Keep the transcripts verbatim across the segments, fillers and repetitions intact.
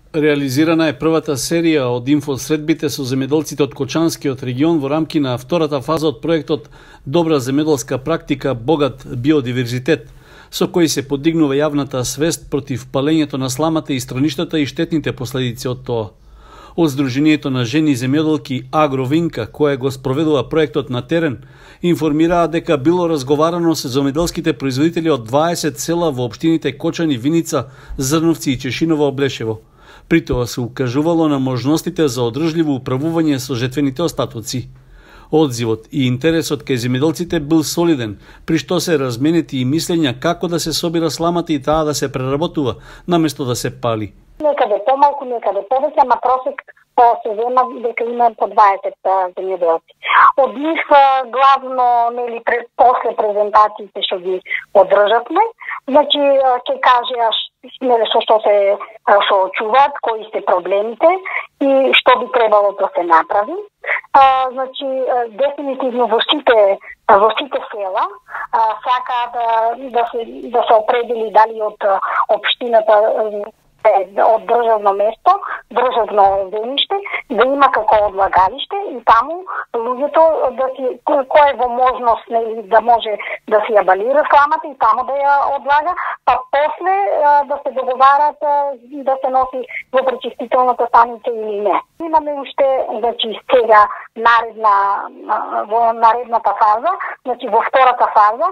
Реализирана е првата серија од инфосредбите со земјоделците од Кочанскиот регион во рамки на втората фаза од проектот Добра земјоделска практика, богат биодиверзитет, со кој се подигнува јавната свест против палењето на сламата и страништата и штетните последици од тоа. Од Сдруженијето на жени земјоделки Агровинка, која го спроведува проектот на терен, информираа дека било разговарано со земјоделските производители од дваесет села во општините Кочани, Виница, Зрновци и Чешиново Облешево. При тоа се укажувало на можностите за одржливо управување со жетвените остатоци. Одзивот и интересот кај земјоделците бил солиден, при што се разменети и мислења како да се собира сламата и таа да се преработува, наместо да се пали. Некаде помалку, некаде повеќе, ама просек се зема дека има по дваесет земјоделци. Од нив главно, нели, после презентациите што ги одржавме, значи ќе кажеа нели со што се што очуваат, кои се проблемите и што би требало да се направи. А, значи дефинитивно во сите во сите села сака да да се да се определи дали од општината од државно место, државно земјиште, да има како одлагалиште и таму луѓето да си кој е во можност, нели, да може да си ја балира сламата и таму да ја одлага, па после да се договарат да се носи во пречистителната станица или не. Имаме уште, значи, сега наредна во наредната фаза, значи во втората фаза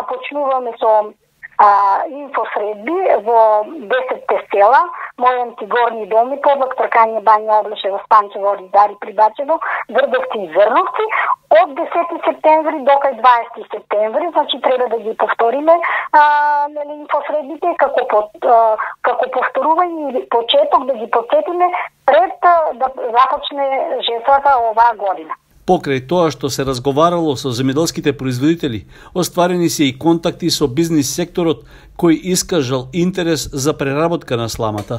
почнуваме со А, инфосредби во десетте села, Мојанци, Горни доми, Подлак, Тркање, Бања, Облешево, Станчево, Ридари, Прибачево, Грдовци и Зрновци, од десети септември до кај дваесети септември, значи треба да ги повториме а, нели, инфосредбите како под, а, како повторување или почеток да ги подсетиме пред а, да започне жетвата оваа година. Покрај тоа што се разговарало со земјоделските производители, остварени се и контакти со бизнис секторот кој искажал интерес за преработка на сламата.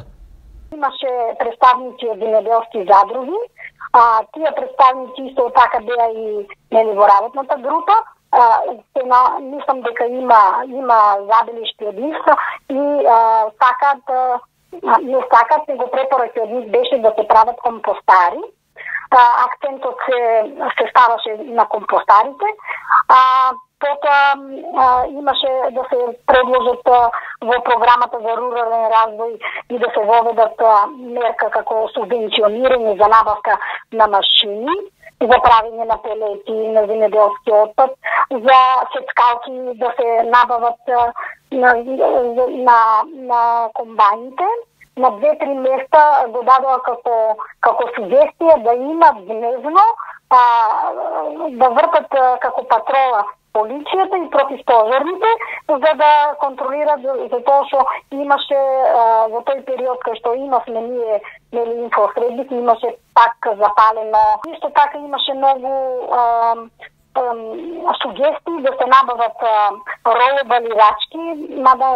Имаше представници од земјоделски задруги, а тие представници исто така беа и нели во работната група. А, на, мислам дека има има забелешки од нив и а, сакат не сакат, него препораки од нив беше да се прават компостари. Акцентот се, се ставаше на компостарите, а потоа имаше да се предложат во програмата за рурален развој и да се воведат мерка како субвенционирање за набавка на машини, за правење на пелети на земјоделски отпад, за сецкалки да се набават на, на, на комбајните. На две-три места го дадоа како, како сугестија да имат дневно, а, да вртат како патрола полицијата и противпожарните, за да контролират за тоа што имаше а, во тој период кај што имавме ние нели инфосредбите, имаше пак запалено. Исто така имаше многу а, сугестии да се набават ролобалирачки, мада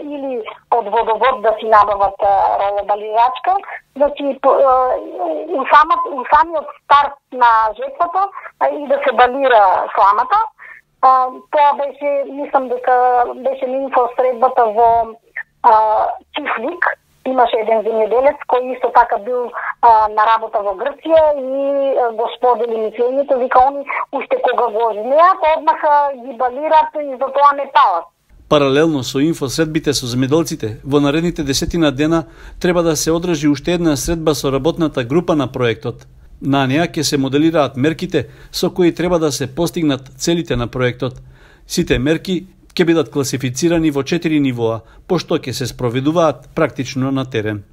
или од водовод да си набават ролобалирачка, значи у самиот у самиот старт на жетвата и да се балира сламата. Тоа беше, мислам дека беше инфосредбата во Чифлик. Имаше еден земјоделец кој исто така бил а, на работа во Грција и а, го сподели мислењето, вика они уште кога го жнеат, одмах ги балират и за тоа не палат. Паралелно со инфосредбите со земјоделците, во наредните десетина дена треба да се одржи уште една средба со работната група на проектот. На неа ќе се моделираат мерките со кои треба да се постигнат целите на проектот. Сите мерки ќе бидат класифицирани во четири нивоа, пошто ќе се спроведуваат практично на терен.